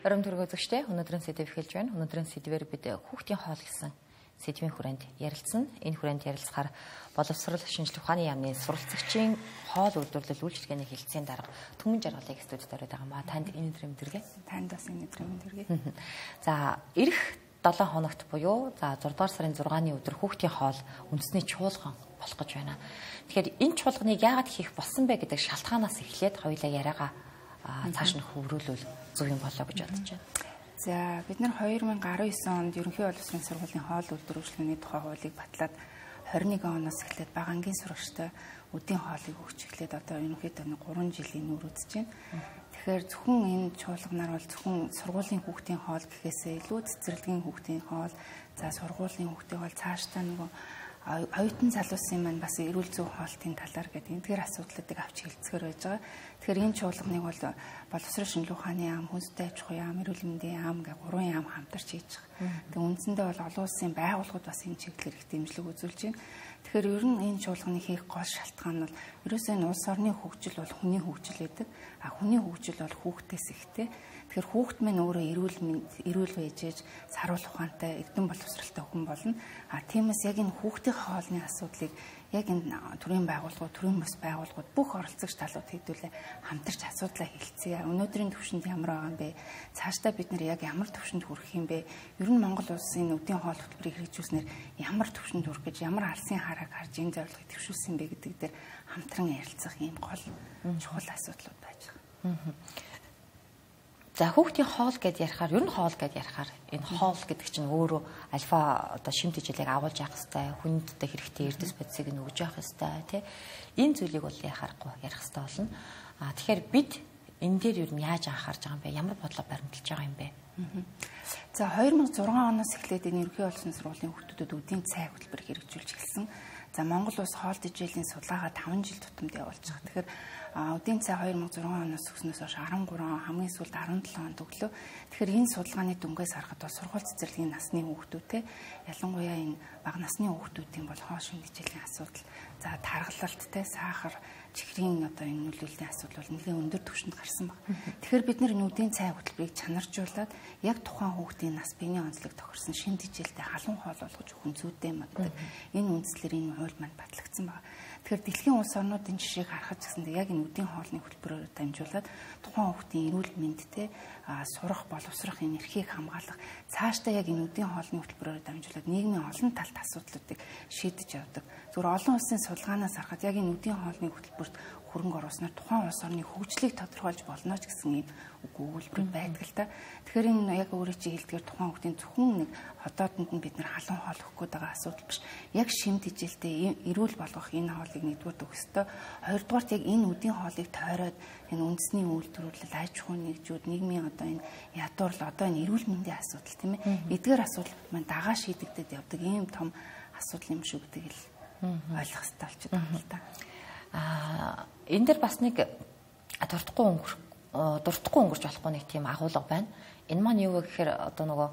Орон төргөө зөвштэй өнөөдрийн сэдв эхэлж байна. Өнөөдрийн сэдвээр бид хүүхдийн хоол гэсэн сэдвийн хүрээнд ярилцсан. Энэ хүрээнд ярилцахаар боловсрол шинжилгээ ухааны яамны суралцагчийн хоол үйлдвэрлэл үйлчилгээний хэлтсийн дарга Түмэн Жаргалыг студид ороод байгаа маа. Танд энэ өдрийн мэдрэг. Танд бас энэ өдрийн мэдрэг. За, ирэх 7 хоногт буюу за 6 дугаар сарын 6-ны өдөр хүүхдийн хоол үндэсний чуулган болох гэж байна. Тэгэхээр энэ чуулганыг яагаад хийх болсон бэ гэдэг шалтгаанаас эхлээд хоёулаа яриагаа цааш нь хөврүүлвэл зөв юм болоо гэж бодож байна. За бид нар 2019 онд ерөнхий боловсролын сургуулийн хоол үйлдвэрлэлийн тухай хуулийг батлаад 21 оноос эхлээд багангийн сурагчтай өдийн хоолыг өгч эхлээд одоо ерөнхийдөө 3 жилийн нүүр үзэж байна. Тэгэхээр зөвхөн энэ чуулганаар бол зөвхөн сургуулийн хүүхдийн хоол гэхээсээ илүү цэцэрлэгийн хүүхдийн хоол, за сургуулийн хүүхдийн хоол цаашдаа нөгөө оюутан залуусын маань бас эрүүл зүйн хоолтын талаар гэдэг эдгээр асуудлуудыг авч хэлцгээр байж байгаа. Тэгэхээр энэ чуулганыг бол боловсрол шинжилгээ ухааны яам, хүнстэй аж ахуйн яам, эрүүл мэндийн яам гэх 3 яам хамтарч хийж байгаа. Тэгээ үндсэндээ бол олон улсын байгууллагууд бас энэ чиглэлээр их дэмжлэг үзүүлж байна. Тэгэхээр ер нь энэ чуулганыг хийх гол шалтгаан нь бол ерөөсөө энэ улс орны хөгжил бол хүний хөгжил гэдэг. Хүний хөгжил бол хүүхдээс ихтэй. Тэгэхээр хүүхд минь өөрөө эрүүл байжээж саруул ухаантай, эрдэм боловсралтай хүн болно. Тиймээс яг энэ хүүхдийн хоолны асуудлыг яг энэ төрийн байгууллагууд, төрийн бус байгууллагууд бүх оролцогч талууд хэдүүлээ хамтарч асуудлаа хэлцгээе. Өнөөдрийн төвшөнд ямар байгаа юм бэ? Цаашдаа бид нэр яг ямар төвшөнд хүрэх юм бэ? Ер нь Монгол улсын өдийн хоол хөтөлбөрийг хэрэгжүүлснээр ямар төвшөнд хүрэх гэж, ямар алсын харааг харж энэ зорилгыг төвшүүлсэн бэ гэдэг дээр хамтран ярилцах ийм гол чухал асуудлууд байж байгаа. За хүүхдийн хоол гэдээ ярихаар ер нь хоол гэдээ ярихаар энэ хоол гэдэг чинь өөрөө альфа одоо шимт хичээлийг агуулж явах хэрэгтэй, хүндтэй хэрэгтэй эрдэс бодисыг нь өгж явах хэрэгтэй тий. Энэ зүйлийг бол яхахгүй ярих хэрэгтэй болно. Тэгэхээр бид энэ дээр ер нь яаж анхаарч байгаа юм бэ? Ямар бодлого баримталж байгаа юм бэ? За 2006 оноос эхлээд энэ ерөнхий боловсролын сургуулийн хүүхдүүдэд өдийн цай хөтөлбөр хэрэгжүүлж эхэлсэн. За Монгол улс хоол тэжээлийн судалгаагаа 5 жил тутамд явуулж байгаа. Тэгэхээр өдийн цай 2006 оноос өгснөөс хойш 13 хамгийн сүүлд 17 онд өглөө. Тэгэхээр энэ судалгааны дүнгээс харахад бол сургууль цэцэрлэгийн насны хүүхдүүдтэй ялангуяа энэ бага насны хүүхдүүдийн бол хоол шин тэжээлийн асуудал, за тархалттай сахар, чихрийн одоо энэ нөлөөллийн асуудал бол нэлээд өндөр түвшинд гарсан баг. Тэгэхээр бид нар нүдийн цай хөтөлбөрийг чанаржуулаад яг тухайн хүүхдийн нас биений онцлог тохирсон шин тэжээлтэй халуун хоол болгож өгөх зүйтэй магаддаг. Энэ үндслэр энэ хууль маань батлагдсан баг. Тэгэхээр дэлхийн улс орнуудын жишээг харахад гэсэндээ яг энэ үдийн хоолны хөтөлбөрөөр дамжуулаад тухайн хүүхдийн эрүүл мэндтэй сурах, боловсрох энэ эрхийг хамгаалах, цаашдаа яг энэ үдийн хоолны хөтөлбөрөөр дамжуулаад нийгмийн олон талт асуудлуудыг шийдэж явдаг. Зүгээр олон улсын судалгаанаас харахад яг энэ үдийн хоолны хөтөлбөрт хөрөнгө оруулснаар тухайн улс орны хөгжлийг тодорхойлж болно ч гэсэн ийм өгүүлбэр байдаг л та. Тэгэхээр энэ яг өөрөө чи хэлдгээр тухайн хүүхдийн зөвхөн нэг хотоодонд нь бид нар халуун хоол өгөх гээд байгаа асуудал биш. Яг шимт хичээлтэй эрүүл болгох энэ хоолыг нэгдүгээр өгөх ёстой. Хоёрдугаарт яг энэ үдийн хоолыг тойроод энэ үндэсний үйлдвэрлэл, аж ахуйн нэгжүүд, нийгмийн одоо энэ ядуурлал, одоо энэ эрүүл мэндийн асуудал тийм ээ. Эдгээр асуудал маань дагаа шийдэгдээд явдаг ийм том асуудал юм шүү гэдгийг л ойлгох хэрэгтэй болчиход байна л да. Энэ дэр бас нэг дуртахгүй өнгөрч болохгүй нэг тийм агуулга байна. Энэ маань юу вэ гэхээр одоо нөгөө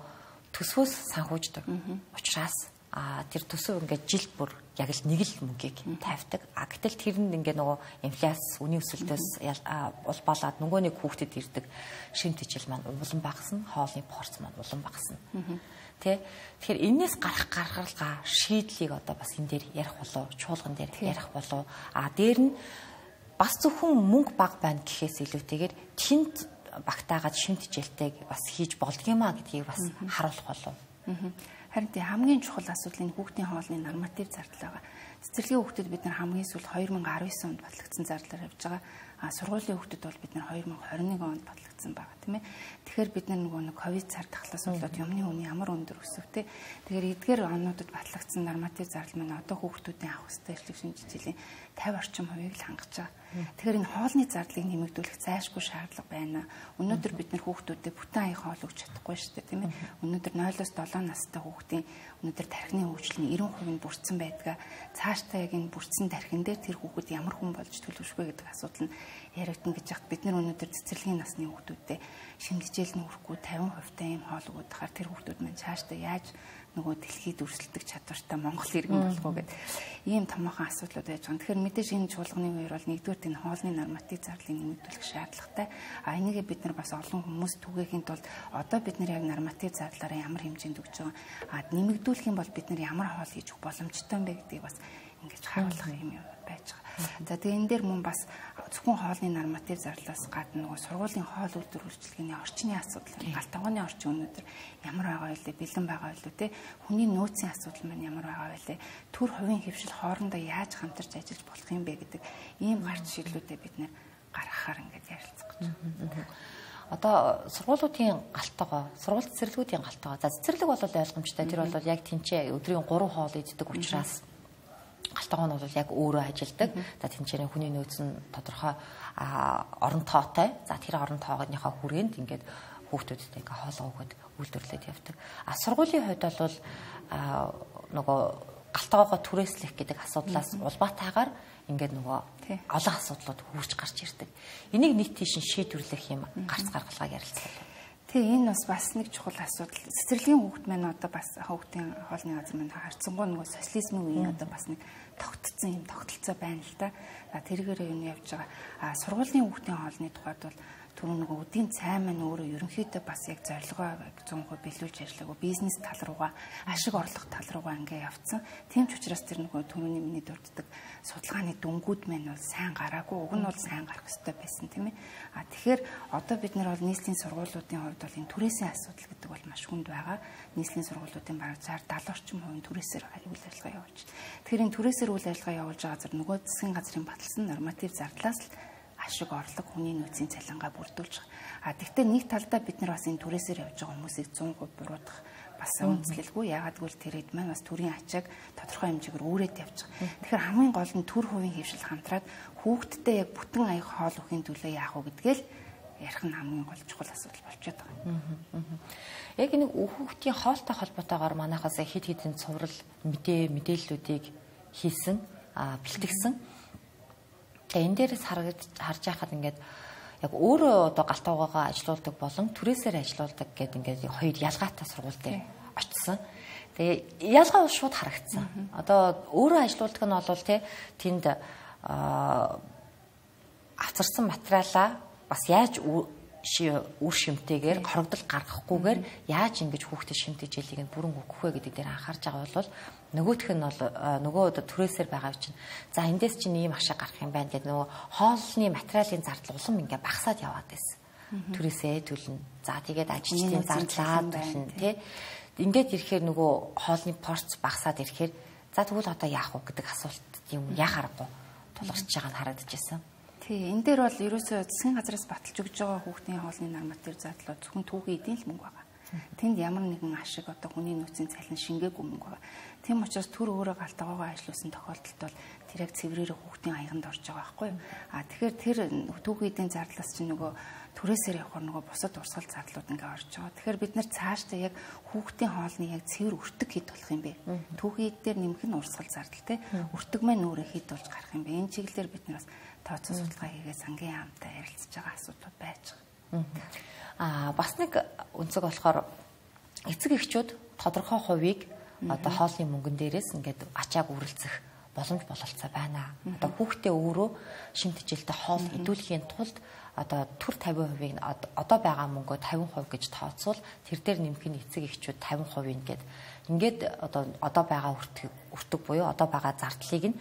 төсвөөс санхүүждэг учраас тэр төсөв ингээд жил бүр яг л нэг л мөнгийг тавьдаг. Гэтэл тэрэнд ингээд нөгөө инфляц, үнийн өсөлтөөс улбалаад нөгөө нэг хүүхдэд ирдэг шимт хичээл маань улам багасна, хоолны порц маань улам багасна. Тэгэхээр энээс гарах гаргалгаа шийдлийг одоо бас энэ дээр ярих болов, чуулган дээр ярих болов. Дээр нь бас зөвхөн мөнгө баг байна гэхээс илүүтэйгээр тэнд багтаагаад шимт хичээлтэйг бас хийж болдгиймаа гэдгийг бас харуулах болов. Харин хамгийн чухал асуудал энэ хүүхдийн хоолны норматив зардал байгаа. Цэцэрлэгийн хүүхдэд бид нар хамгийн сүүл 2019 онд батлагдсан зардлаар явж байгаа. Сургуулийн хүүхдэд бол бид нар 2021 онд батлагдсан байгаа тийм ээ. Тэгэхээр бид нар нөгөө ковид цар тахлаас болоод юмны үн ямар өндөр өсөвтэй. Тэгэхээр эдгээр онуудад батлагдсан норматив зардал маань одоо хүүхдүүдийн авах ёстой эрхлэг шинжилгээний 50 орчим хувийг л хангаж байгаа. Тэгэхээр энэ хоолны зардлыг нэмэгдүүлэх зайлшгүй шаардлага байна. Өнөөдөр бид нар хүүхдүүдэд бүтэн аян хоол өгч чадахгүй шүү дээ тийм ээ. Өнөөдөр 0-7 настай хүүхдийн өнөөдөр тархины хөгжлийн 90% нь бүрдсэн байдаг. Цаашдаа яг энэ бүрдсэн тархин дээр тэр хүүхэд ямар хүн болж төлөвшөх вэ гэдэг асуудал нь яригдана гэж яхад бид нар өнөөдөр цэцэрлэгийн насны хүүхдүүдэд шимтгийлэл нь хүрэхгүй 50% та ийм хоол өгөх хаар тэр хүүхдүүд маань цаашдаа яаж нөгөө дэлхийд өрсөлдөх чадвартай Монгол иргэн болох уу гэдэг ийм томоохон асуудлууд байж байгаа. Тэгэхээр мэдээж энэ чуулганы үеэр бол нэгдүгээр энэ хоолны норматив зарлалыг нэмэгдүүлэх шаардлагатай. Энийгээ бид нар бас олон хүмүүс түгээхийн тулд одоо бид нар яг норматив зарлалаараа ямар хэмжээнд өгч байгаа нэмэгдүүлэх юм бол бид нар ямар хоол хийж өгөх боломжтой юм бэ гэдгийг бас ингэж харуулах юм байж байгаа. За тэгээ энэ дээр мөн бас зөвхөн хоолны норматив зарлалаас гадна нөгөө сургуулийн хоол үйлдвэр үйлчилгээний орчны асуудал, галт тоогооны орчин өнөөдөр ямар байгаа вэ? Бэлэн байгаа вэ те? Хүний нөөцийн асуудал маань ямар байгаа вэ? Төр хувийн хөвшил хоорондоо яаж хамтарч ажиллаж болох юм бэ гэдэг ийм гарч шийдлүүдэд бид нэр гаргахаар ингэж ярилцах гэж байна. Одоо сургуулиудын галтгоо, сургууль цэцэрлэгүүдийн галтгоо. За цэцэрлэг бол ойлгомжтой. Тэр бол яг тэнцээ өдрийн 3 хоол иддэг учраас галтгоо нь бол яг өөрөө ажилдаг. За тэнцээрийн хүний нөөц нь тодорхой орон тоотой. За тэр орон тоогийнхоо хүрээнд ингээд хүүхдүүдэд ингээ хоолоо өгöd үйлдвэрлээд явдаг. Сургуулийн хувьд бол нөгөө галтгоогоо түрээслэх гэдэг асуудлаас улбаатайгаар ингээд нөгөө олон асуудлууд хурж гарч ирдэг. Энийг нийт тийш шийдвэрлэх юм гарц гаргалгаа ярилцлаа. Тэгээ энэ бас нэг чухал асуудал. Цэцэрлэгийн хүүхд маань одоо бас хүүхдийн хоолны газар маань харцсангуу нөгөө социализмын үеийн одоо бас нэг тогтцсон юм тогтолцоо байна л да. Тэргээр юу явж байгаа. Сургуулийн хүүхдийн хоолны тухайд бол түрүү нөгөө үдийн цай маань өөрөө ерөнхийдөө бас яг зорилгоо 100% биелүүлж ажиллаагүй бизнес тал руугаа ашиг орлого тал руугаа ингээ явцсан. Тийм ч учраас тэр нөгөө түрүүний миний дурддаг судалгааны дүнгууд маань бол сайн гараагүй. Уг нь бол сайн гарах хэрэгтэй байсан тийм ээ. Тэгэхээр одоо бид нар бол нийслэлийн сургуулиудын хувьд бол энэ түрээсийн асуудал гэдэг бол маш хүнд байгаа. Нийслэлийн сургуулиудын бараг 60-70 орчим хувийн түрээсээр үйл ажиллагаа явуулж. Тэгэхээр энэ түрээсээр үйл ажиллагаа явуулж байгаа зэрэг нөгөө засгийн газрын баталсан норматив зардлаас л ашиг орлого хүний нөөцийн цалингаа бүрдүүлж байгаа. Тэгвэл нэг талдаа бид нар бас энэ түрээсээр явж байгаа хүмүүсийг 100% буруутгах бас үндэслэлгүй. Яагаад гэвэл тэр хэд маань бас төрийн ачааг тодорхой хэмжээгээр үүрээд явж байгаа. Тэгэхээр хамгийн гол нь төр хувийн хөвшил хамтраад хүүхдтэй яг бүтэн аяг хоол өхийн төлөө яах вэ гэдгээл ярих нь хамгийн гол чухал асуудал болчиход байгаа. Яг нэг хүүхдийн хоолтой холбоотойгоор манайхаас хэд хэдэн цуврал мэдээллүүдийг хийсэн, бэлтгэсэн. Тэгээ энэ дээрээс харж байхад ингээд яг өөрөө одоо галтгоогоо ажилуулдаг болон түрээсээр ажилуулдаг гэдэг ингээд хоёр ялгаатай сургууль дээр очсон. Тэгээ ялгаа бол шууд харагдсан. Одоо өөрөө ажилуулдаг нь бол тэнд авчирсан материалаа бас яаж үр шимтэйгээр хорогдол гаргахгүйгээр яаж ингэж хүүхдэд шимтэж ялыг нь бүрэн өгөх вэ гэдэг дээр анхаарч байгаа бол нөгөөх нь бол нөгөө түрээсээр байгаа чинь за эндээс чинь ийм ашиг гарах юм байна гэдэг нөгөө хоолны материалын зардал улам ингээ багасаад яваад байсан. Түрээсээ төлнө. За тэгээд ажилчдын зардлаа төлнө тий. Ингээд ирэхээр нөгөө хоолны порц багасаад ирэхээр за тэгвэл одоо яах вэ гэдэг асуулт юм яхаарахгүй тулгарч байгааг нь харагдаж байсан. Тий, энэ дээр бол ерөөсөө засгийн газраас баталж өгж байгаа хүүхдийн хоолны норматив зардлууд зөвхөн түүхийн эдийн л мөнгө байгаа. Тэнд ямар нэгэн ашиг одоо хүний нөөцийн цалин шингээгүй мөнгө байгаа. Тийм учраас төр өөрөө галтгоогоо ажиллуулсан тохиолдолд бол тэр яг цэврээр хүүхдийн аяганд орж байгаа байхгүй юу? Тэгэхээр тэр түүхийн эдийн зардлаас чинь нөгөө түрээсээр явахаар нөгөө бусад урсгал зардлууд ингээ орж байгаа. Тэгэхээр бид нар цаашдаа яг хүүхдийн хоолны яг цэвэр өртөг хэд болох юм бэ? Түүхийн эд дээр нэмэх нь урсгал зардал те. Өртөг маань өөрөө хэд болж гарах юм бэ? Энэ чиглэлээр бид нар бас тооцоо судалгаа хийгээ сангийн яамтай ярилцж байгаа асуудал байж байгаа. Бас нэг үнцэг болохоор эцэг эхчүүд тодорхой хувийг одоо хоолны мөнгөн дээрээс ингээд ачааг үрэлцэх боломж бололцоо байна. Одоо хүүхдээ өөрөө шимтжилтэй хоол идэвхжихийн тулд одоо төр 50%-ийг одоо байгаа мөнгөө 50% гэж тооцвол тэр дээр нэмэх нь эцэг эхчүүд 50% ингээд одоо байгаа өртөг буюу одоо байгаа зардлыг нь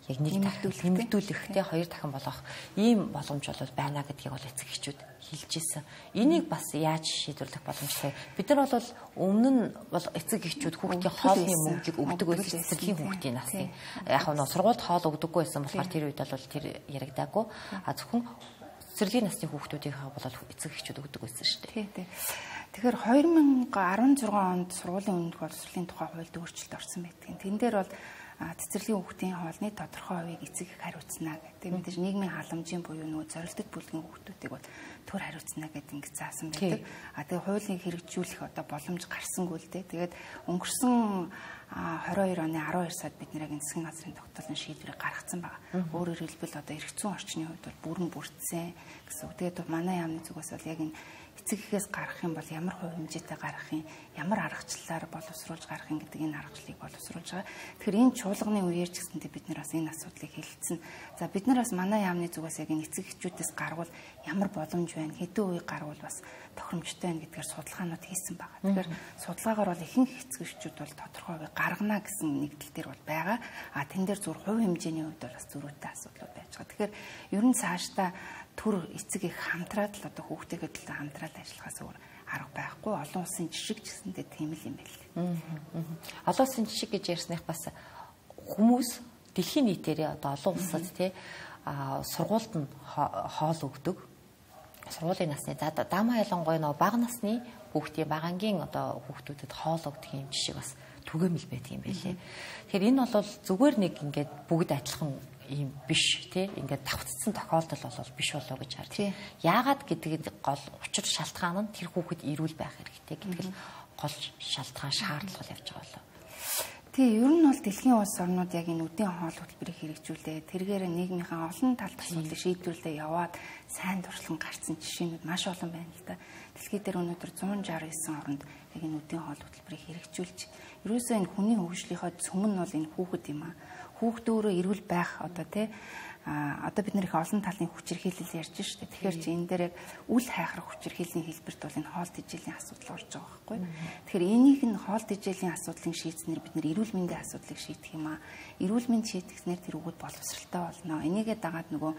яг нэг дахин нэмэгдүүлэх те хоёр дахин болгох ийм боломж бол байна гэдгийг бол эцэг эхчүүд хэлж ирсэн. Энийг бас яаж шийдвэрлэх боломжтой? Бид нар бол өмнө нь бол эцэг эхчүүд хүүхдийн хоолны мөнгөийг өгдөг байсан цэцэрлэгийн хүүхдийн насны. Яг нь сургуульд хоол өгдөггүй байсан болохоор тэр үед бол тэр яригдаагүй. Зөвхөн цэцэрлэгийн насны хүүхдүүдийнхээ бол эцэг эхчүүд өгдөг байсан шүү дээ. Тэгэхээр 2016 онд сургуулийн өмнөх боловсролын тухай хуульд өөрчлөлт орсон байдаг. Тэн дээр бол цэцэрлэгийн хүүхдийн хоолны тодорхой хувийг эцэг их хариуцна гэдэг. Мэдээж нийгмийн халамжийн буюу нөгөө зорилттой бүлгийн хүүхдүүдийг бол төр хариуцна гэдэг ингэ заасан байдаг. Тэгээ хуулийн хэрэгжүүлэх одоо боломж гарсангүй л дээ. Тэгээд өнгөрсөн 22 оны 12 сард бид нэр яг засгийн газрын тогтоолын шийдвэрийг гаргацсан байгаа. Өөрөөр хэлбэл одоо эрх зүйн орчны хувьд бол бүрэн бүрдсэн гэсэн үг. Тэгээд манай яамны зүгээс бол яг энэ эцэг эхээс гарах юм бол ямар хувь хэмжээтэй гарах юм, ямар аргачлалаар боловсруулж гарах юм гэдэг энэ аргачлалыг боловсруулж байгаа. Тэгэхээр энэ чуулганы үеэр ч гэсэндээ бид нар бас энэ асуудлыг хэлэлцэн. За бид нар бас манай яамны зүгээс яг энэ эцэг эхчүүдээс гаргуул ямар боломж байна, хэдэн үе гаргуул бас тохиромжтой байна гэдгээр судалгаанууд хийсэн байгаа. Тэгэхээр судалгаагаар бол ихэнх эцэг эхчүүд бол тодорхой үе гаргана гэсэн нэгдэл дээр бол байгаа. А тэн дээр зөв хувь хэмжээний үед бол бас зөрүүтэй асуудлууд байж байгаа. Тэгэхээр ер нь цаашдаа төр эцэг их хамтраад л одоо хүүхдтэйгээ төлөө хамтраад ажиллахаас өөр арга байхгүй. Олон улсын жишг гэсэндээ тийм л юм байл. Олон улсын жишг гэж ярьсных бас хүмүүс дэлхийн нийтээрээ одоо олон улсад тий сургуульд нь хоол өгдөг. Сургуулийн насны дамаа ялангуяа нөгөө бага насны хүүхдийн багангийн одоо хүүхдүүдэд хоол өгдөг юм жишг бас түгээмэл байдаг юм байлээ. Тэгэхээр энэ бол зүгээр нэг ингээд бүгд адилхан ийм биш тий ингээд давтцсан тохиолдол бол биш болоо гэж харж. Яагаад гэдгийг гол учир шалтгаан нь тэр хүүхэд ирүүл байх хэрэгтэй гэдэг л гол шалтгаан шаардлага явж байгаа болоо. Тий, ер нь бол дэлхийн улс орнууд яг энэ үдийн хоол хөтөлбөрийг хэрэгжүүлээ. Тэргээр нийгмийн олон талт асуудлыг шийдвэрлээ яваад сайн туршлага гарсан жишээнүүд маш олон байна л да. Дэлхийд дээр өнөөдөр 169 оронд яг энэ үдийн хоол хөтөлбөрийг хэрэгжүүлж, ерөөсөө энэ хүний хөгжлийнхөө цөм нь бол энэ хүүхэд юм аа. Хүүхэд өөрөө эрүүл байх одоо тий одоо бид нэр их олон талын хүчирхийлэл ярьж штэ. Тэгэхээр чи энэ дээр яг үл хайхрах хүчирхийллийн хэлбэрт бол энэ хоол тэжээлийн асуудал орж байгаа байхгүй. Тэгэхээр энийг нь хоол тэжээлийн асуудлыг шийдснээр бид нэр эрүүл мэндийн асуудлыг шийдэх юм аа. Эрүүл мэнд шийдэхнээр тэр үгүүд боловсралтай болно. Энийгээ дагаад нөгөө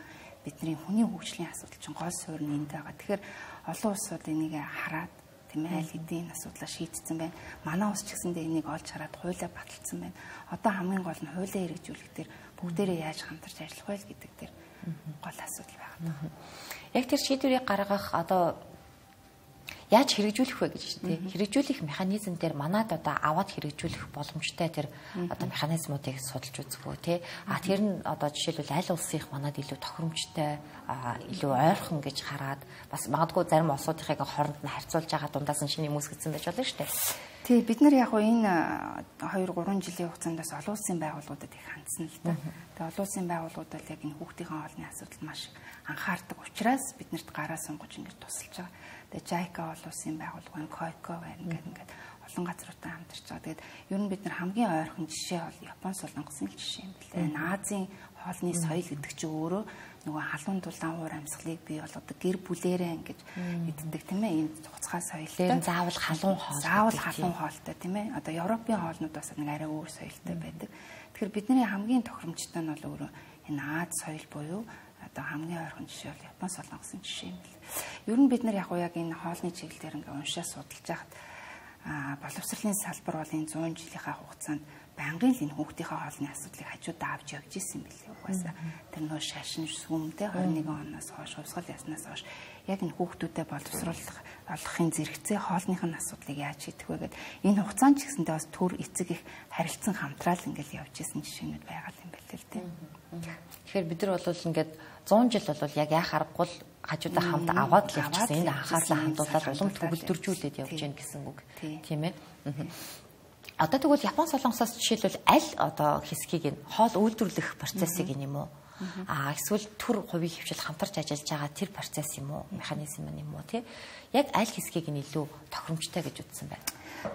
бидний хүний хөгжлийн асуудал чинь гол суурь нь энд байгаа. Тэгэхээр олон улсууд энийг хараад тийм ээ аль хэдийн асуудлаа шийдсэн байна. Манай улс ч гэсэндээ энийг олж хараад хуулиа баталсан байна. Одоо хамгийн гол нь хуулиа хэрэгжүүлэх дээр бүгдээрээ яаж хамтарч ажиллах вэ гэдэг дээр гол асуудал байна. Яг тэр шийдвэрийг гаргах одоо яаж хэрэгжүүлэх вэ гэж тийм хэрэгжүүлэх механизм дээр манад одоо аваад хэрэгжүүлэх боломжтой тэр одоо механизмуудыг судалж үзгөө тий тэр нь одоо жишээлбэл аль улсынх манад илүү тохиромжтой илүү ойрхон гэж хараад бас магадгүй зарим улсуудынхыг хооронд нь харьцуулж байгаа дундаас нь шинэ хүмүүс гэсэн байж болно шүү дээ. Тий бид нар яг энэ 2-3 жилийн хугацаанд бас олон улсын байгууллагуудад их хандсан л да. Тэгээ олон улсын байгууллагууд бол яг энэ хүүхдийн хоолны асуудал маш анхаардаг учраас биднэрт гараа сунгаж ингэж тусалж байгаа. Тэгээ JICA олон улсын байгууллага, COICO байна ингээд олон газруудтай хамтарч байгаа. Тэгээд ер нь бид нар хамгийн ойрхон жишээ бол Япон Солонгосын жишээ юм билээ. Азийн хоолны соёл гэдэг чинь өөрөө нөгөө халуун дулаан уур амьсгалыг бий болгодог гэр бүлээрээ ингэж иддэг тийм ээ. Ийм цуцгаа соёлтой. Заавал халуун хоол. Заавал халуун хоолтой тийм ээ. Одоо Европын хоолнууд бас нэг арай өөр соёлтой байдаг. Тэгэхээр бидний хамгийн тохиромжтой нь бол өөрөө энэ Аз соёл буюу одоо хамгийн ойрхон жишээ бол Япон Солонгосын жишээ юм бэл. Ер нь бид нар яг энэ хоолны чиглэлээр ингээ уншаа судалж байхад боловсролын салбар бол энэ 100 жилийнхаа хугацаанд байнгын л энэ хүүхдийнхээ хоолны асуудлыг хажуудаа авч явж исэн билээ. Угаасаа тэр нөө шашин сүмтэй 21 оноос хойш хувьсгал яснаас хойш яг энэ хүүхдүүдэд боловсруулах олохын зэрэгцээ хоолных нь асуудлыг яаж шийдэх вэ гэдэг энэ хугацаанд ч гэсэндээ бас төр эцэг их харилцан хамтраал ингээл явж исэн жишээнүүд байгаа юм байна л тийм. Тэгэхээр бид нар бол ингээд 100 жил бол яг яах аргагүй л хажуудаа хамт аваад л явчихсан. Энд анхаарлаа хандуулаад улам төгөлдржүүлээд явж гин гэсэн үг тийм ээ. Одоо тэгвэл Япон Солонгосоос жишээлбэл аль одоо хэсгийг нь хоол үйлдвэрлэх процессыг юм уу? Эсвэл төр хувийн хвшил хамтарч ажиллаж байгаа тэр процесс юм уу? Механизм юм уу тий? Яг аль хэсгийг нь илүү тохиромжтой гэж үзсэн байна.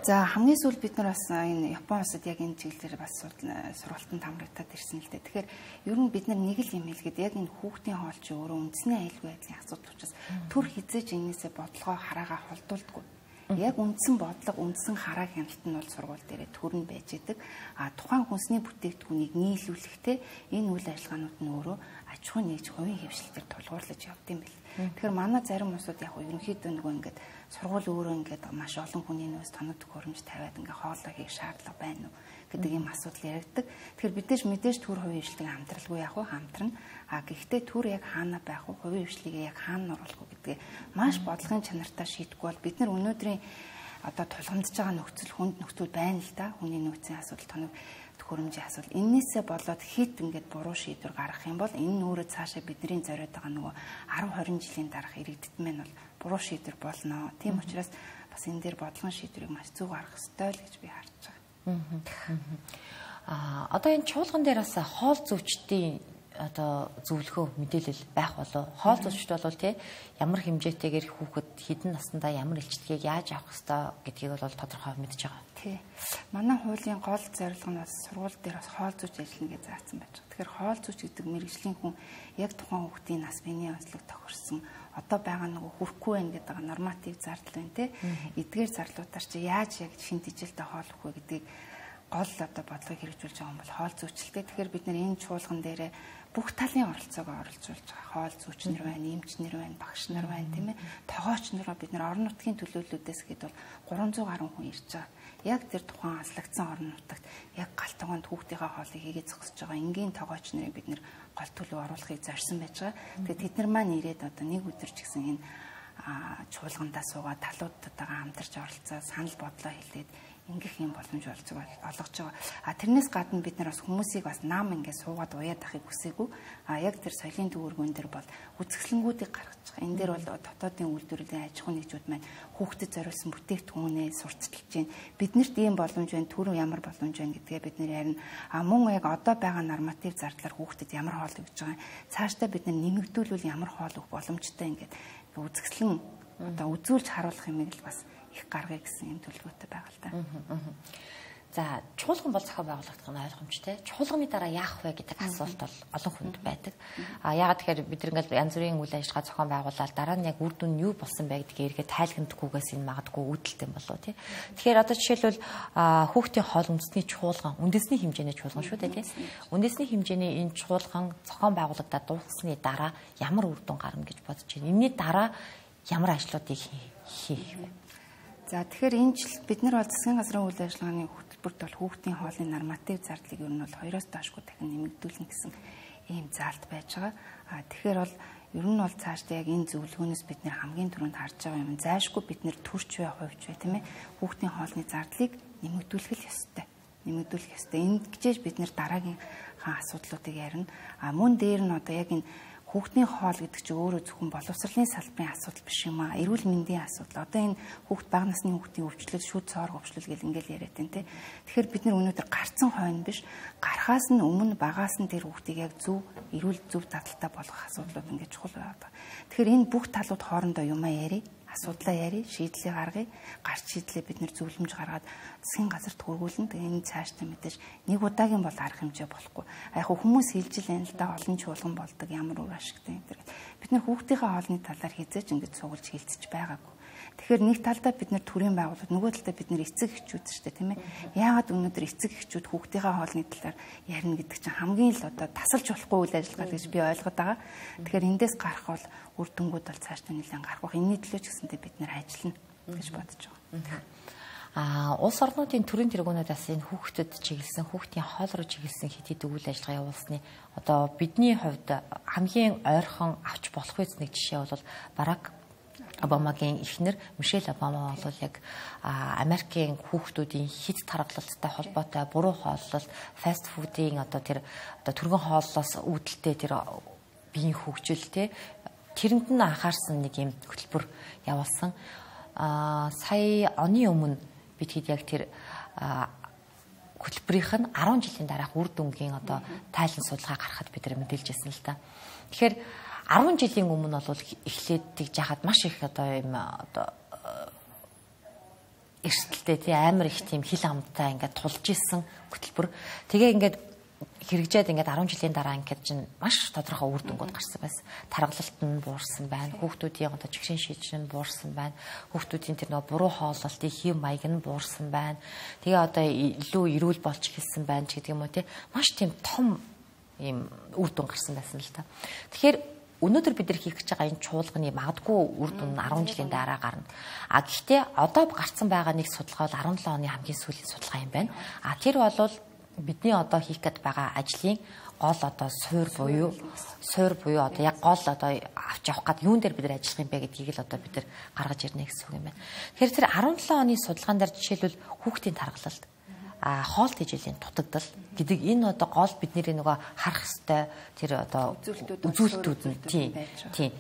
За хамгийн сүүлд бид нар бас энэ Япон улсад яг энэ чиглэлээр бас сургалтанд хамрагдаад ирсэн л дээ. Тэгэхээр ер нь бид нар нэг л юм хэлгээд яг энэ хүүхдийн хоол чи өөрөө үндэсний аюулгүй байдлын асуудал учраас төр хизээж энэсээ бодлогоо хараагаа холдуулдаггүй. Яг үндсэн бодлого, үндсэн хараа хяналт нь бол сургууль дээрээ төрн байж идэг. Тухайн хүнсний бүтээгдэхүүнийг нийлүүлэхдээ энэ үйл ажиллагаанууд нь өөрөө аж ахуй нэгж хувийн хвшилтээр тулгуурлаж явд юм бэл. Тэгэхээр манай зарим улсууд яг ерөнхийдөө нөгөө ингээд сургууль өөрөө ингээд маш олон хүний нөөц тоног төхөөрөмж тавиад ингээд хоолой хийх шаардлага байна уу гэдэг ийм асуудал яригддаг. Тэгэхээр мэдээж төр хувийн хвшилтийг хамтралгүй яг хамтрна. Гэхдээ төр яг хаана байх вэ? Хувийн хвшлигээ яг хаана оруулах вэ гэдгээ маш бодлогын чанартай шийдэхгүй бол бид нар өнөөдрийн одоо тулгамдж байгаа нөхцөл хүнд нөхцөл байна л да. Хүний нөөцийн асуудал тоног төхөөрөмжийн асуудал. Эннээсээ болоод хит ингээд буруу шийдвэр гаргах юм бол энэ нөөрэд цаашаа бидний зориод байгаа нөгөө 10-20 жилийн дараах иргэдэд мэн бол буруу шийдвэр болно. Тийм учраас бас энэ дээр бодлогын шийдвэрийг маш зөв гаргах ёстой л гэж би харж байгаа. Одоо энэ чуулган дээр бас хоол зүйчдийн одоо зөвлөгөө мэдээлэл байх болов. Хоол зүйчд бол тий ямар хэмжээтэйгээр хүүхэд хэдэн наснда ямар илчлэгийг яаж авах ёстой гэдгийг бол тодорхой мэдж байгаа. Тий. Манай хуулийн гол зорилго нь бас сургууль дээр бас хоол зүйч ажиллана гэж заасан байж байгаа. Тэгэхээр хоол зүйч гэдэг мэргэжлийн хүн яг тухайн хүүхдийн нас биений онцлог тохирсон одоо байгаа нөгөө хүрхгүй байх гэдэг норматив зардал байна тий. Эдгээр зарлуудаар чи яаж яг шин дижилтэй хоол өгөх вэ гэдгийг гол одоо бодлогыг хэрэгжүүлж байгаа юм бол хоол зүйчлэлтэй. Тэгэхээр бид нэр энэ чуулган дээрээ бүх талын оролцоогоо оруулж байгаа. Хоол зүйчнэр байна, эмчнэр байна, багш нар байна, тийм ээ. Тогооч нараа бид нар орон нутгийн төлөөллүүдээс гээд бол 300 гаруй хүн ирж байгаа. Яг тэр тухайн аслагдсан орон нутагт яг гал тогоонд хүүхдийнхээ хоолыг хийгээд зогсож байгаа. Энгийн тогооч нарыг бид нар гол төлөв оруулахыг зорьсон байж байгаа. Тэгээд тэд нар маань ирээд одоо нэг өдөр ч гэсэн энэ чуулгандаа суугаад талуудтайгаа хамтарч оролцоо санал бодлоо хэлээд ингэх юм боломж олгож байгаа. Тэрнээс гадна бид нар бас хүмүүсийг бас нам ингээд суугаад уяад ахыг хүсээгүй. Яг тэр соёлын төвөргөн дээр бол үзэсгэлэнгүүдийг гаргаж байгаа. Энэ дээр бол дотоодын үйлдвэрлэлийн аж ахуйн нэгжүүд маань хүүхдэд зориулсан бүтээгдэхүүнээ сурталчилж байна. Биднэрт ийм боломж байна, түрүү ямар боломж байна гэдгээ бид нар ярина. Мөн яг одоо байгаа норматив зардлаар хүүхдэд ямар хоол өгж байгаа. Цаашдаа бид нар нэмэгдүүлвэл ямар хоол өгөх боломжтой ингээд үзэсгэлэн одоо үзүүлж харуулах юмыг л бас их гаргая гэсэн юм төлөвлөгөөтэй байгаа л да. За, чуулган бол зохион байгуулагдах нь ойлгомжтой. Чуулганы дараа яах вэ гэдэг асуулт бол олон хүнд байдаг. Яагаад тэгэхээр бид ингээл янз бүрийн үйл ажиллагаа зохион байгуулаад дараа нь яг үр дүн нь юу болсон бэ гэдгийг эргээд тайлгнадаггүйгээс энэ магадгүй үүдэлтэй болов тий. Тэгэхээр одоо жишээлбэл хүүхдийн хоол үндэсний чуулган, үндэсний хэмжээний чуулган шүү дээ тий. Үндэсний хэмжээний энэ чуулган зохион байгуулагдаад дууссны дараа ямар үр дүн гарна гэж бодож байна. Энэний дараа ямар ажлуудыг хийх вэ? За тэгэхээр энэ жил бид нар бол засгийн газрын үйл ажиллагааны хөтөлбөрт бол хүүхдийн хоолны норматив зардлыг ер нь бол 2-оос доошгүй дахин нэмэгдүүлнэ гэсэн ийм заалт байж байгаа. Тэгэхээр бол ер нь бол цаашдаа яг энэ зөвлөгөөнөөс бид нэр хамгийн түрүүнд харж байгаа юм. Зайшгүй бид нэр төрч бай, хувьч бай тийм ээ. Хүүхдийн хоолны зардлыг нэмэгдүүлэх ёстой. Нэмэгдүүлэх ёстой. Энд гिचээж бид нэр дараагийн асуудлуудыг ярина. Мөн дээр нь одоо яг энэ хүүхдийн хоол гэдэг чинь өөрөө зөвхөн боловсролын салбарын асуудал биш юм аа. Эрүүл мэндийн асуудал. Одоо энэ хүүхд бага насны хүүхдийн өвчлөл, шүд цоор өвчлөл гэл ингээл яриад байна те. Тэгэхээр бид нар өнөөдөр гарцсан хойно биш, гарахаас нь өмнө багаас нь тэр хүүхдийг яг зөв эрүүл зөв дадалтай болгох асуудлууд ингээд чухал байдаг. Тэгэхээр энэ бүх талууд хоорондоо юмаа ярий, асуудлаа ярий, шийдлээ гаргая. Гарч шийдлээ бид нэр зөвлөмж гаргаад засгийн газарт хөргүүлнэ. Тэгээ энэ цаашдаа мэдээж нэг удаагийн бол арга хэмжээ болохгүй. Яг хүмүүс хэлж л энэ л да олон чуулган болдог ямар үр ашигтай энэ. Бид нар хүүхдийнхээ хоолны талаар хязгаарч ингэж суулж хилцэж байгаагүй. Тэгэхээр нэг талдаа бид нар төрийн байгууллага, нөгөө талдаа бид нар эцэг эхчүүд шүү дээ, тийм ээ. Яагаад өнөөдөр эцэг эхчүүд хүүхдийнхээ хоолны талаар ярина гэдэг чинь хамгийн л одоо тасалж болохгүй үйл ажиллагаа гэж би ойлгоод байгаа. Тэгэхээр эндээс гарах бол үр дүнгууд бол цаашдаа нэлээд гарах бах. Энэний төлөө ч гэсэндээ бид нар ажиллана гэж бодож байгаа. Улс орнуудын төрийн тэргүүнүүдээс энэ хүүхдэд чиглэсэн, хүүхдийн хоол руу чиглэсэн хэд хэдэн үйл ажиллагаа явуулсны одоо бидний хувьд хамгийн ойрхон авч болох үс нэг жишээ бол Барак Обамагийн эхнэр Мишель Обама бол яг Америкийн хүүхдүүдийн хит тархалттай холбоотой буруу хооллол, фаст фудын одоо тэр одоо түргэн хооллоос үүдэлтэй тэр биеийн хөгжил те тэрэнд нь анхаарсан нэг юм хөтөлбөр явуулсан. Сая оны өмнө бид хэд яг тэр хөтөлбөрийнх нь 10 жилийн дараах үр дүнгийн одоо тайлан судалгаа гаргахад бид нэр мэдээлж байсан л та. Тэгэхээр 10 жилийн өмнө бол эхлээд жахад маш их одоо юм одоо эрсдэлтэй тий амар их тийм хил амттай ингээд тулж исэн хөтөлбөр. Тэгээ ингээд хэрэгжээд ингээд 10 жилийн дараа ингээд чинь маш тодорхой үр дүнгууд гарсан байсан. Таргалалт нь буурсан байна. Хүүхдүүдийн одоо чигшин шийдвэр нь буурсан байна. Хүүхдүүдийн тэр нөгөө буруу хооллолтын хэв маяг нь буурсан байна. Тэгээ одоо илүү эрүүл болж эхэлсэн байна ч гэдэг юм уу тий. Маш тийм том ийм үр дүн гарсан байсан л та. Тэгэхээр өнөөдөр бид нар хийх гэж байгаа энэ чуулганы магадгүй үр дүн 10 жилийн дараа гарна. Гэхдээ одоо гарцсан байгаа нэг судалгаа бол 17 оны хамгийн сүүлийн судалгаа юм байна. Тэр бол бидний одоо хийх гээд байгаа ажлын гол одоо суур буюу одоо яг гол одоо авч явах гээд юун дээр бид нар ажиллах юм бэ гэдгийг л одоо бид нар гаргаж ирнэ гэсэн үг юм байна. Тэгэхээр тэр 17 оны судалгаан дээр жишээлбэл хүүхдийн тархалт хоол тэжээлийн дутагдал гэдэг энэ одоо гол бидний нөгөө харах ёстой тэр одоо үзүүлэлтүүд нь тийм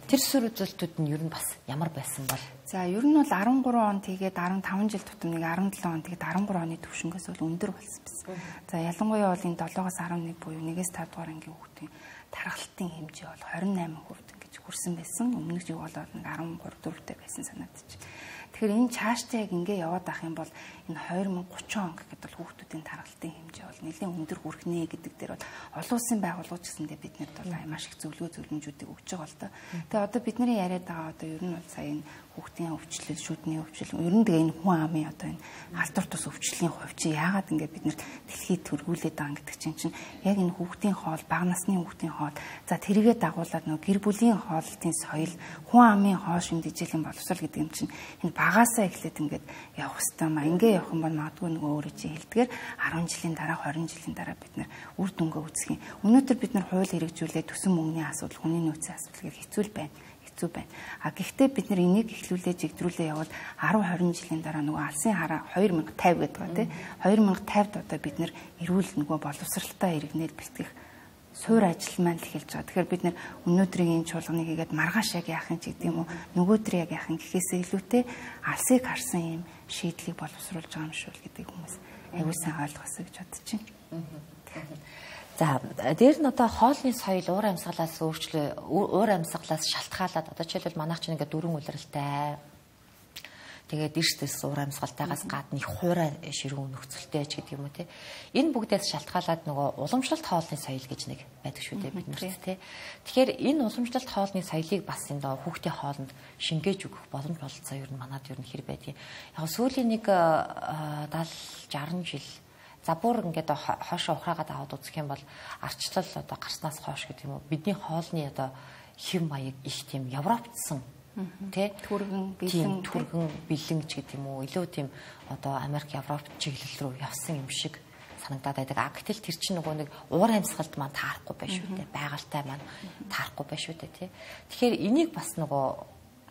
тэр суурь үзүүлэлтүүд нь ер нь бас ямар байсан бол за ер нь бол 13 он тэгээд 15 жил тутам нэг 17 он тэгээд 13 оны төвшнгөөс бол өндөр болсон байсан. За ялангуяа бол энэ 7-оос 11 буюу 1-ээс 5 дугаар ангийн хүүхдийн тархалтын хэмжээ бол 28% гэж хүрсэн байсан. Өмнөх жиг бол нэг 13-4-тэй байсан санагдчих. Тэгэхээр энэ цаашдаа яг ингэ яваад ах юм бол энэ 2030 он гэхэд бол хүүхдүүдийн тархалтын хэмжээ бол нэлээд өндөр хүрэх нэ гэдэг дээр бол олон улсын байгууллагууд ч гэсэндээ биднэрт бол маш их зөвлөмжүүдийг өгч байгаа л да. Тэгээ одоо бидний яриад байгаа одоо ер нь бол сая энэ хүүхдийн өвчлөл, шүдний өвчлөл, ер нь тэгээ энэ хүн амын одоо энэ халдвар тус өвчлөлийн хувь чи яагаад ингэ бид нэр дэлхийд төргүүлээд байгаа гэдэг чинь яг энэ хүүхдийн хоол, бага насны хүүхдийн хоол, за тэрийгэ дагуулад нөгөө гэр бүлийн хоолтын соёл, хүн амын хоол шимдэжлийн боловсрол гэдэг юм чинь энэ багаасаа эхлээд ингээд явах хэрэгтэй маа. Ингээ явах юм бол магадгүй нөгөө өөрөө чи хэлдгээр 10 жилийн дараа, 20 жилийн дараа бид нэр үр дүнгээ үзэх юм. Өнөөдөр бид нар хууль хэрэгжүүлээд төсөн мөнгөний асуудал, хүний нөөцийн асуудал гэх хэцүү байна. А гэхдээ бид нар энийг эхлүүлээ жигдрүүлээ явал 10-20 жилийн дараа нөгөө алсын хараа 2050 гэдэг ба тий 2050-д одоо бид нар эрүүл нөгөө боловсралтай иргэнээр бэлтгэх суур ажил маань л эхэлж байгаа. Тэгэхээр бид нар өнөөдрийн энэ чуулганыг хийгээд маргааш яг яах юм ч гэдэг юм уу нөгөөдөр яг яах юм гэхээсээ илүүтэй алсыг харсан юм шийдлийг боловсруулж байгаа юм шүү гэдэг хүмүүс аюул сайн ойлгосоо гэж бодож байна. За дээр нь одоо хоолны соёл уур амьсгалаас уур амьсгалаас шалтгаалаад одоо жишээлбэл манайх чинь ингээд дөрвөн улиралтай тэгээд эрсдэс уур амьсгалтайгаас гадна их хуурай ширүүн нөхцөлтэй ч гэдэг юм уу те энэ бүгдээс шалтгаалаад нөгөө уламжлалт хоолны соёл гэж нэг байдаг шүү дээ бид нарт те тэгэхээр энэ уламжлалт хоолны соёлыг бас энэ хүүхдийн хоолнд шингээж өгөх боломж бололцоо ер нь манад ер нь хэр байдгийг яг сүүлийн нэг 70-60 жил за бүр ингээд хоошоо ухраагаад аваад үзэх юм бол арчлал одоо гарснаас хойш гэдэг юм уу бидний хоолны одоо хэв маяг их тийм европцсан тий түргэн бэлэн ч гэдэг юм уу илүү тийм одоо Америк Европ чиглэл рүү явсан юм шиг санагдаад байдаг. Гэтэл тэр чинь нөгөө нэг уур амьсгалд маань таарахгүй байх шүү дээ. Байгальтай маань таарахгүй байх шүү дээ тий. Тэгэхээр энийг бас нөгөө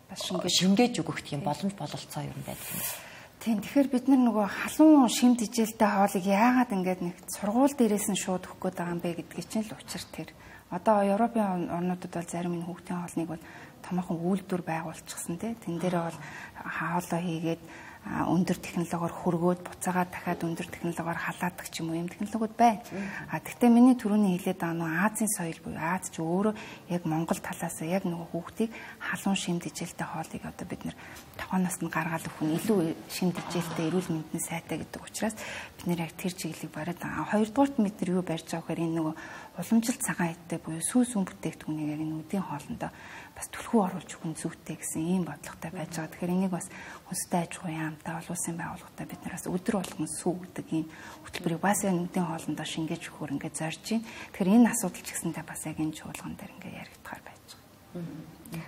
бас шингээж өгөх тийм боломж бололцоо юм байдаг юм. Тийм тэгэхээр бид нөгөө халуун шимт ижээлтэй хоолыг яагаад ингээд нэг сургууль дээрээс нь шууд өгөх гээд байгаа юм бэ гэдгийг чинь л учир тэр. Одоо Европын орнуудад бол зарим энэ хүүхдийн хоолныг бол томоохон үйлдвэр байгуулчихсан тий. Тэн дээр бол хаалаа хийгээд өндөр технологиор хөргөөд буцаагаад дахиад өндөр технологиор халаадаг ч юм уу юм технологиуд байна. Гэхдээ миний түрүүний хэлээд байгаа нөгөө Азийн соёл буюу Аз ч өөрөө яг Монгол талаас яг нөгөө хүүхдийг халуун шимт ижээлтэй хоолыг одоо бид нэр тохооноос нь гаргаад өгөх нь илүү шимт ижээлтэй эрүүл мэндийн сайтай гэдэг учраас бид нэр яг тэр чиглэлийг бариад байгаа. Хоёрдугаарт бид нар юу барьж байгаа гэхээр энэ нөгөө уламжлалт цагаан идтэй буюу сүүс үн бүтээгдэхүүнийг яг энэ үдийн хоолндоо бас түлхүү оруулж өгөх нь зүйтэй гэсэн ийм бодлоготой байж байгаа. Тэгэхээр энийг бас хүнстэй аж ахуйн яамтай олон улсын байгууллагатай бид нараас өдөр болгон сүү гэдэг ийм хөтөлбөрийг бас энэ үдийн хоолндоо шингээж өгөхөөр ингээд зорж байна. Тэгэхээр энэ асуудал ч гэсэндээ бас яг энэ чуулган дээр ингээд яригдахаар байж байгаа.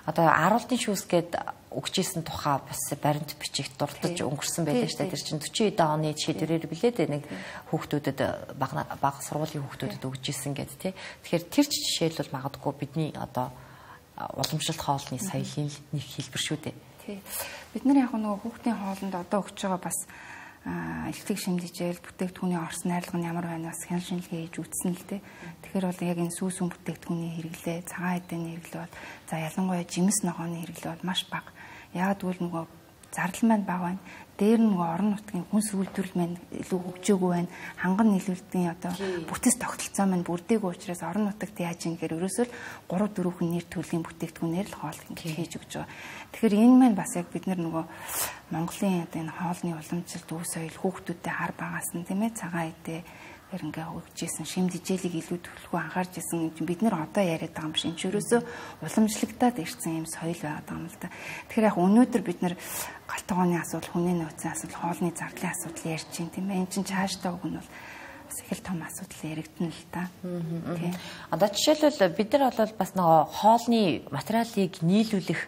Одоо аруултын шүүсгээд өгчээсэн тухай бас баримт бичигт дурдж өнгөрсөн байлаа шүү дээ. Тэр чинь 40 оны шийдвэрээр билээд нэг хүүхдүүдэд бага сургуулийн хүүхдүүдэд өгчээсэн гэдэг тий. Тэгэхээр тэр жишээл бол магадгүй бидний одоо уламжлалт хоолны соёлын нэг хэлбэр шүү дээ. Тий. Бид нар яг нөгөө хүүхдийн хоолнд одоо өгч байгаа бас элтэг шимдэжэл бүтээгдэхүүний орс найрлага нь ямар байна бас хян шинжилгээ хийж үзсэн л дээ. Тэгэхээр бол яг энэ сүүс үн бүтээгдэхүүний хэрэглээ, цагаан эдэний хэрэглээ бол за ялангуяа жимс ногооны хэрэглээ бол маш бага. Яагаад гэвэл нөгөө зардал маань бага байна. Дээр нь нөгөө орон нутгийн хүнс үйлдвэрлэл маань илүү хөгжөөгүй байна. Ханган нийлүүлэлтийн одоо бүтэц тогтолцоо маань бүрдээгүй учраас орон нутагт яаж юм гэхээр ерөөсөө 3-4 хүн нэр төрлийн бүтээгдэхүүнээр л хоол ингэж хийж өгч байгаа. Тэгэхээр энэ маань бас яг бид нар нөгөө Монголын одоо энэ хоолны уламжлалт өв соёл хүүхдүүдэд хар багаас нь тийм ээ цагаан эдээ ингээ хөгжижсэн шимт ижээлийг илүү төлөвлөгөө анхаарч исэн бид нар одоо яриад байгаа юм биш. Энд ерөөсөө уламжлагдаад ирсэн юм соёл байгаад байгаа юм л да. Тэгэхээр яг өнөөдөр бид нар галт тогооны асуудал, хүний нөөцийн асуудал, хоолны зардлын асуудал ярьж байна тийм ээ. Энэ чинь цаашдаа үг нь бол бас их л том асуудал яригдана л та. Тийм. Одоо жишээлбэл бид нар бол бас нөгөө хоолны материалыг нийлүүлэх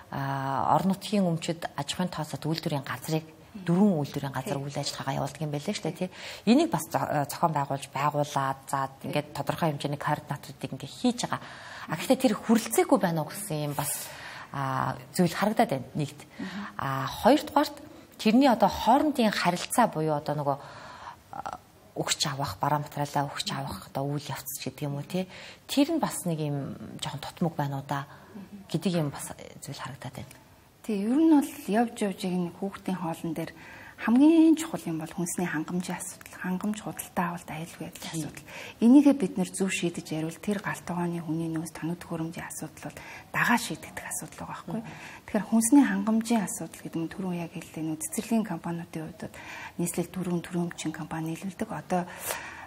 орон нутгийн өмчөд аж ахуйн тооцоод үйлдвэрийн газрыг 4 үйлдвэрийн газар үйл ажиллагаа явуулдаг юм байлээ шүү дээ тий. Энийг бас зохион байгуулад за ингээд тодорхой хэмжээний координаторуудыг ингээд хийж байгаа. Гэхдээ тэр хүрэлцээгүй байна уу гэсэн юм бас зүйл харагдаад байна нэгт. Хоёрдугаарт тэрний одоо хоорондын харилцаа буюу одоо нөгөө өгч авах, бараа материалаа өгч авах одоо үйл явц гэдэг юм уу тий. Тэр нь бас нэг юм жоохон тутмаг байна уу да гэдэг юм бас зүйл харагдаад байна. Тий, ер нь бол явж нэг хүүхдийн хоолн дээр хамгийн чухал юм бол хүнсний хангамжийн асуудал, хангамж худалдаа авалт аюулгүй байдлын асуудал. Энийгээ бид нэр зөв шийдэж яривал тэр галтгооны хүний нөөц тоног төхөөрөмжийн асуудал бол дагаа шийдэгдэх асуудал байгаа байхгүй. Тэгэхээр хүнсний хангамжийн асуудал гэдэг нь түрүүн яг хэллээ цэцэрлэгийн компаниудын хувьд нийслэл төрөмчин компани нийлүүлдэг. Одоо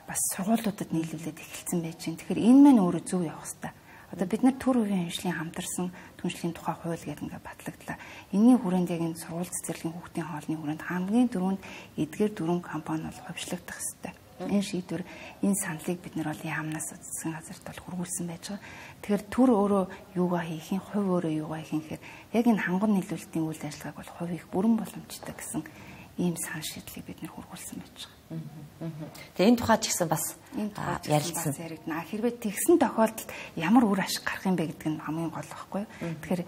бас сургуулиудад нийлүүлээд эхэлсэн байж байна. Тэгэхээр энэ мань өөрөө зөв явах хэрэгтэй. Одоо бид нар төр үеийн хөгжлийн хамтарсан түншлэлийн тухай хууль гэдэг ингээд батлагдлаа. Энийн хүрээнд яг энэ сургууль цэцэрлэгийн хүүхдийн хоолны хүрээнд хамгийн дөрөнд эдгээр дөрвөн компани бол хувьчлагдах ёстой. Энэ шийдвэр, энэ саналыг бид нар бол яамнаас засгийн газарт бол хургуулсан байж байгаа. Тэгэхээр төр өөрөө юугаа хийх юм, хувь өөрөө юугаа хийх юм гэхээр яг энэ ханган нийлүүлэлтийн үйл ажиллагааг бол хувь их бүрэн боломжтой гэсэн ийм санал шийдлийг бид нар хургуулсан байж байгаа. Тэгээ энэ тухайд ч гэсэн бас ярилцсан. Хэрвээ тэгсэн тохиолдолд ямар үр ашиг гарах юм бэ гэдэг нь хамгийн гол байхгүй юу? Тэгэхээр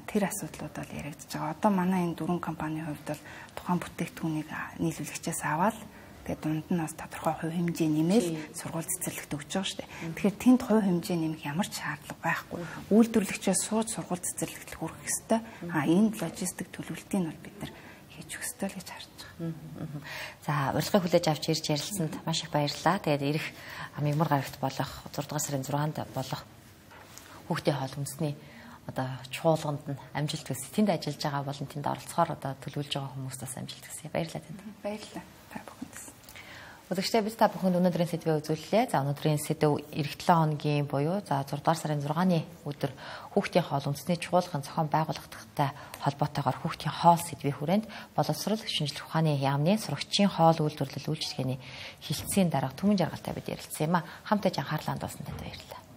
тэр асуудлууд бол яригдж байгаа. Одоо манай энэ дөрвөн компанийн хувьд бол тухайн бүтээгдэхүүнийг нийлүүлэгчээс аваад тэгээд дунд нь бас тодорхой хувь хэмжээ нэмэл сургууль цэцэрлэгт өгч байгаа шүү дээ. Тэгэхээр тэнд хувь хэмжээ нэмэх ямар ч шаардлага байхгүй. Үйлдвэрлэгчээс сууж сургууль цэцэрлэгт хүрэх ёстой. Энэ логистик төлөвлөлтийг бол бид нар хийж өгөх ёстой л гэж харж байгаа. За, урилгыг хүлээж авч ирж ярилцсанд маш их баярлалаа. Тэгээд ирэх мягмар гарагт болох 6 дугаар сарын 6-нд болох хүүхдийн хоол үндэсний одоо чуулганд нь амжилт хүсье. Тэнд ажиллаж байгаа болон тэнд оролцохоор одоо төлөвлөж байгаа хүмүүст бас амжилт хүсье. Баярлалаа танд. Баярлалаа. Та бүхэнд. Өдөртөө бид та бүхэнд өнөөдрийн сэдвээ үзүүллээ. За, өнөөдрийн сэдв эх 7 хоногийн буюу за 6 дугаар сарын 6-ны өдөр хүүхдийн хоол үндэсний чуулган зохион байгуулагдахтай холбоотойгоор хүүхдийн хоол сэдвийн хүрээнд боловсрол шинжилгээ ухааны яамны сурагчийн хоол үйлдвэрлэл үйлчилгээний хилцээний дарга Түмэн Жаргалтай бид ярилцсан юм а. Хамтдаа анхаарлаа хандуулсан танд баярлалаа.